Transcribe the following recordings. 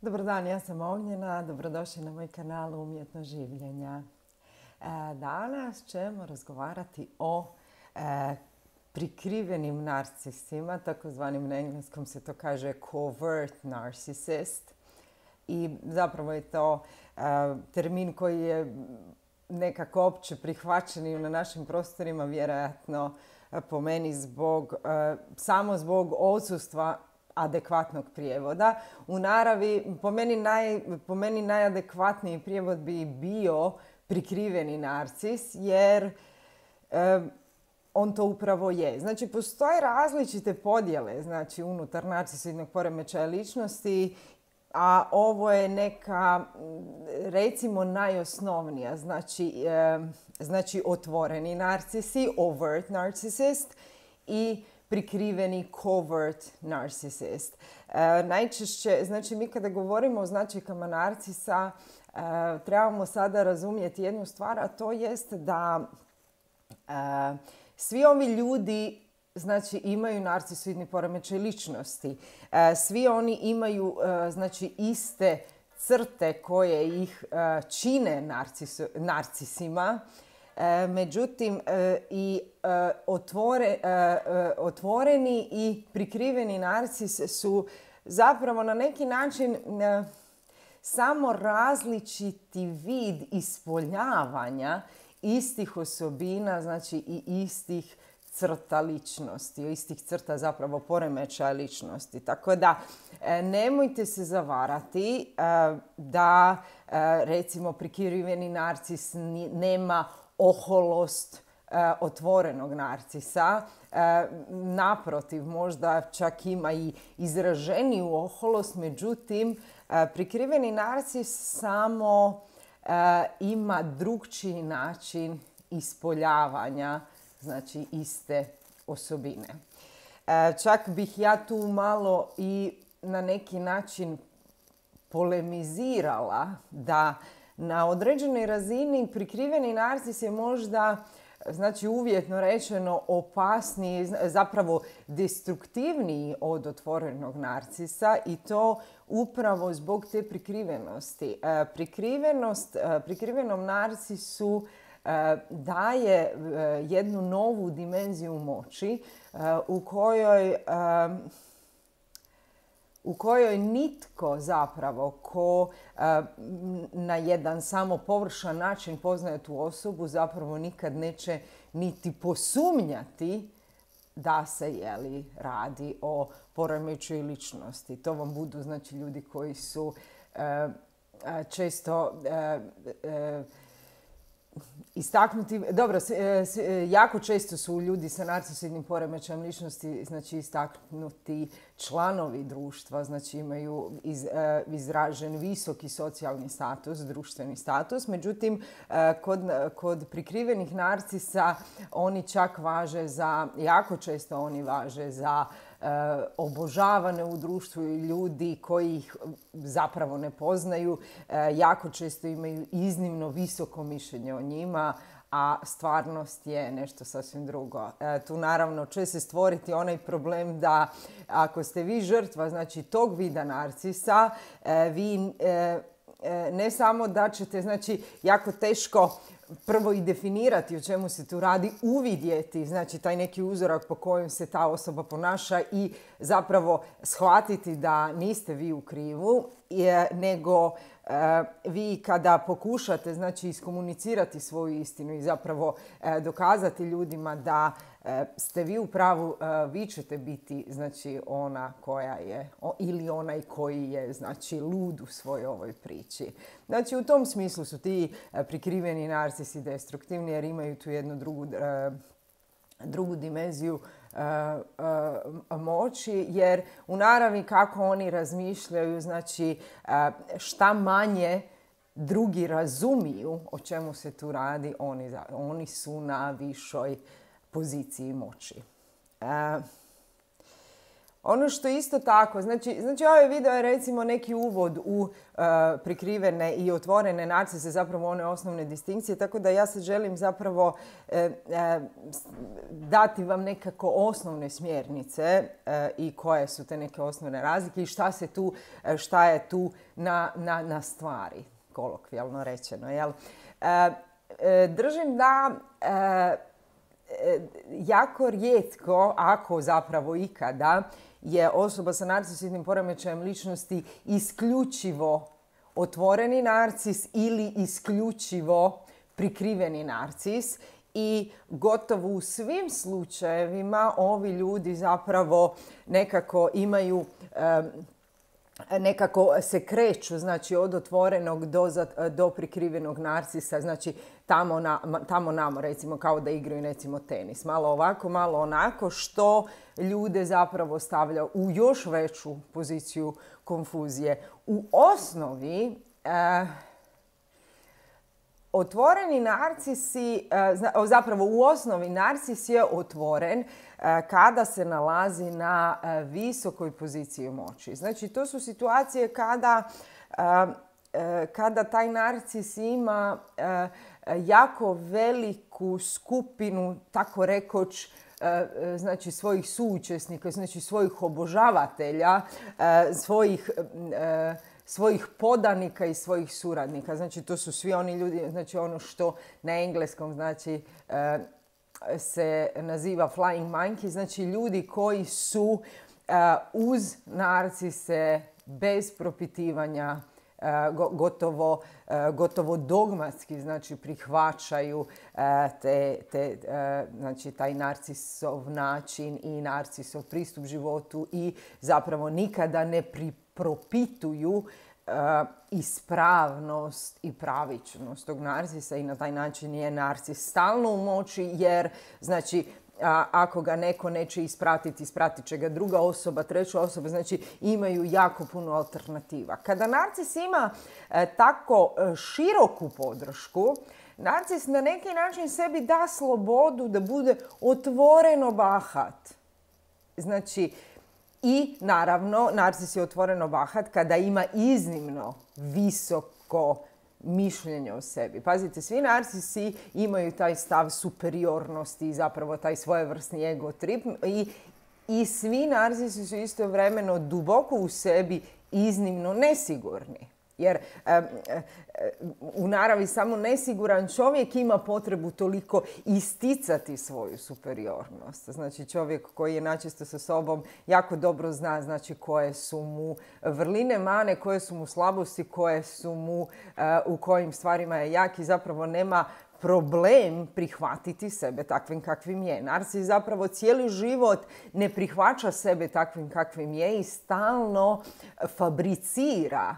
Dobar dan, ja sam Ognjena, dobrodošli na moj kanal Umjetno življenja. Danas ćemo razgovarati o prikrivenim narcisima, takozvanim na engleskom se to kaže covert narcissist. I zapravo je to termin koji je nekako opće prihvaćen i na našim prostorima, vjerojatno po meni samo zbog odsustva adekvatnog prijevoda. U naravi, po meni najadekvatniji prijevod bi bio prikriveni narcis, jer on to upravo je. Znači, postoje različite podjele, znači, unutar narcisoidnog poremećaja ličnosti, a ovo je neka, recimo, najosnovnija. Znači otvoreni narcisi, overt narcissist, i prikriveni covert narcissist. Najčešće, znači mi kada govorimo o značajkama narcisa, trebamo sada razumjeti jednu stvar, a to jest da svi ovi ljudi, znači, imaju narcisoidni poremećaj ličnosti. Svi oni imaju, znači, iste crte koje ih čine narcisima. Međutim, i otvoreni i prikriveni narcis su zapravo na neki način samo različiti vid ispoljavanja istih osobina, znači i istih crta ličnosti, istih crta zapravo poremećaja ličnosti. Tako da nemojte se zavarati da recimo prikriveni narcis nema oholost otvorenog narcisa. Naprotiv, možda čak ima i izraženiju oholost, međutim, prikriveni narcis samo ima drukčiji način ispoljavanja, znači, iste osobine. Čak bih ja tu malo i na neki način polemizirala da na određenoj razini prikriveni narcis je možda, znači, uvjetno rečeno, opasniji, zapravo destruktivniji od otvorenog narcisa, i to upravo zbog te prikrivenosti. Prikrivenom narcisu daje jednu novu dimenziju moći u kojoj nitko zapravo ko na jedan samo površan način poznaje tu osobu zapravo nikad neće niti posumnjati da se radi o poremećaju ličnosti. To vam budu, znači, ljudi koji su često istaknuti, dobro, jako često su ljudi sa narcisoidnim poremećajem ličnosti, znači, istaknuti članovi društva, znači imaju izražen visoki socijalni status, društveni status. Međutim, kod prikrivenih narcisa oni čak važe za, jako često oni važe za obožavane u društvu i ljudi koji ih zapravo ne poznaju, jako često imaju iznimno visoko mišljenje o njima, a stvarnost je nešto sasvim drugo. Tu naravno će se stvoriti onaj problem da ako ste vi žrtva, znači, tog vida narcisa, vi ne samo da ćete, znači, jako teško prvo i definirati o čemu se tu radi, uvidjeti, znači, taj neki uzorak po kojem se ta osoba ponaša i zapravo shvatiti da niste vi u krivu, nego vi kada pokušate, znači, iskomunicirati svoju istinu i zapravo dokazati ljudima da ste vi u pravu, vi ćete biti, znači, ona koja je ili onaj koji je, znači, lud u svojoj ovoj priči. Znači, u tom smislu su ti prikriveni narcisi destruktivni, jer imaju tu jednu drugu dimenziju moći, jer u naravi kako oni razmišljaju, znači, šta manje drugi razumiju o čemu se tu radi, oni su na višoj poziciji moći. Ono što isto tako, znači ovaj video je recimo neki uvod u prikrivene i otvorene narcise, zapravo one osnovne distinkcije, tako da ja se želim zapravo dati vam nekako osnovne smjernice i koje su te neke osnovne razlike i šta je tu na stvari, kolokvijalno rečeno. Jel? Držim da jako rijetko, ako zapravo ikada, je osoba sa narcisoidnim poremećajem ličnosti isključivo otvoreni narcis ili isključivo prikriveni narcis. I gotovo u svim slučajevima ovi ljudi zapravo nekako imaju, nekako se kreću, znači od otvorenog do prikrivenog narcisa, znači tamo namo, recimo kao da igraju recimo tenis. Malo ovako, malo onako, što ljude zapravo stavlja u još veću poziciju konfuzije. U osnovi, otvoreni narcisi, zapravo u osnovi narcis je otvoren kada se nalazi na visokoj poziciji moći. Znači, to su situacije kada taj narcis ima jako veliku skupinu, tako rekoć, znači svojih suučesnika, znači svojih obožavatelja, svojih podanika i svojih suradnika. Znači, to su svi oni ljudi, znači ono što na engleskom znači se naziva flying monkey, znači ljudi koji su uz narcise bez propitivanja gotovo dogmatski, znači prihvaćaju znači taj narcisov način i narcisov pristup životu i zapravo nikada ne propituju ispravnost i pravičnost tog narcisa i na taj način je narcis stalno u moći, jer znači ako ga neko neće ispratiti, ispratit će ga druga osoba, treća osoba, znači imaju jako puno alternativa. Kada narcis ima tako široku podršku, narcis na neki način sebi da slobodu da bude otvoreno bahat. Znači, i naravno, narcis je otvoreno bahat kada ima iznimno visoko mišljenje o sebi. Pazite, svi narcisi imaju taj stav superiornosti i zapravo taj svojevrsni ego trip i svi narcisi su istovremeno duboko u sebi iznimno nesigurni. Jer u naravi samo nesiguran čovjek ima potrebu toliko isticati svoju superiornost. Znači čovjek koji je načisto sa sobom jako dobro zna znači koje su mu vrline, mane, koje su mu slabosti, koje su mu u kojim stvarima je jak i zapravo nema problem prihvatiti sebe takvim kakvim je. Narcis zapravo cijeli život ne prihvaća sebe takvim kakvim je i stalno fabricira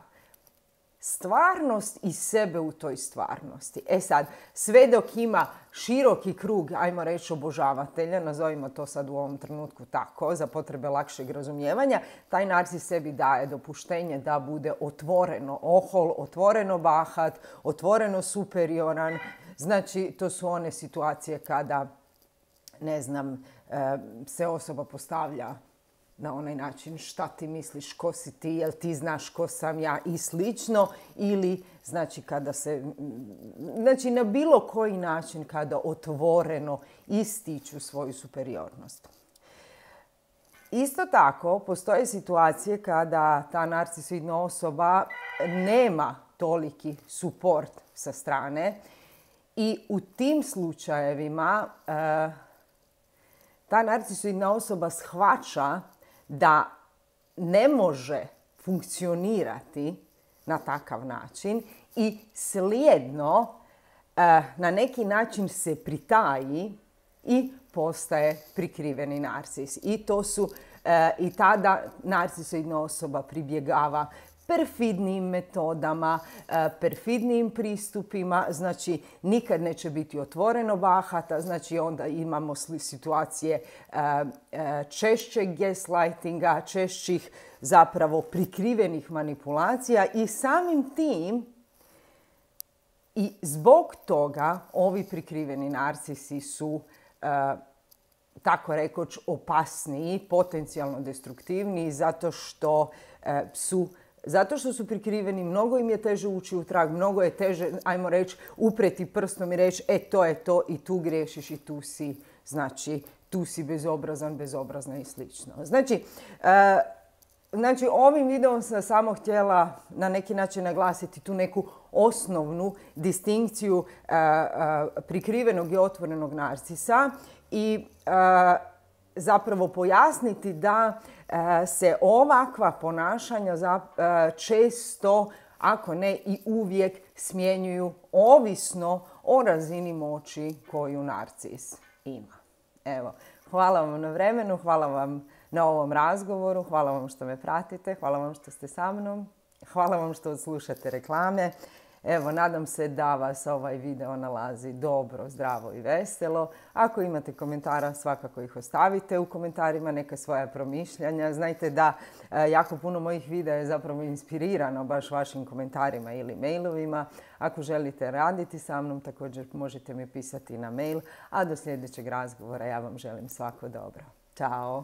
stvarnost i sebe u toj stvarnosti. E sad, sve dok ima široki krug, ajmo reći, obožavatelja, nazovimo to sad u ovom trenutku tako, za potrebe lakšeg razumijevanja, taj narcis sebi daje dopuštenje da bude otvoreno ohol, otvoreno bahat, otvoreno superioran. Znači, to su one situacije kada, ne znam, se osoba postavlja na onaj način šta ti misliš, ko si ti, jel ti znaš ko sam ja i slično, ili znači kada se, znači na bilo koji način kada otvoreno ističu svoju superiornost. Isto tako, postoje situacije kada ta narcisoidna osoba nema toliki suport sa strane i u tim slučajevima ta narcisoidna osoba shvaća da ne može funkcionirati na takav način i slijedno na neki način se pritaji i postaje prikriveni narcis. I tada narcisoidna osoba pribjegava perfidnim metodama, perfidnim pristupima, znači nikad neće biti otvoreno bahata, znači onda imamo situacije češćeg gaslightinga, češćih zapravo prikrivenih manipulacija i samim tim i zbog toga ovi prikriveni narcisi su tako rekoć opasniji, potencijalno destruktivniji, zato što su prikriveni, mnogo im je teže ući u trag, mnogo je teže, ajmo reći, upreti prstom i reći to je to i tu griješiš i tu si bezobrazna i slično. Znači, ovim videom sam samo htjela na neki način naglasiti tu neku osnovnu distinkciju prikrivenog i otvorenog narcisa i zapravo pojasniti da se ovakva ponašanja često, ako ne i uvijek, smjenjuju ovisno o razini moći koju narcis ima. Evo, hvala vam na vremenu, hvala vam na ovom razgovoru, hvala vam što me pratite, hvala vam što ste sa mnom, hvala vam što odslušate reklame. Evo, nadam se da vas ovaj video nalazi dobro, zdravo i veselo. Ako imate komentara, svakako ih ostavite u komentarima, neka svoja promišljanja. Znajte da jako puno mojih videa je zapravo inspirirano baš vašim komentarima ili mailovima. Ako želite raditi sa mnom, također možete mi pisati na mail. A do sljedećeg razgovora ja vam želim svako dobro. Ćao!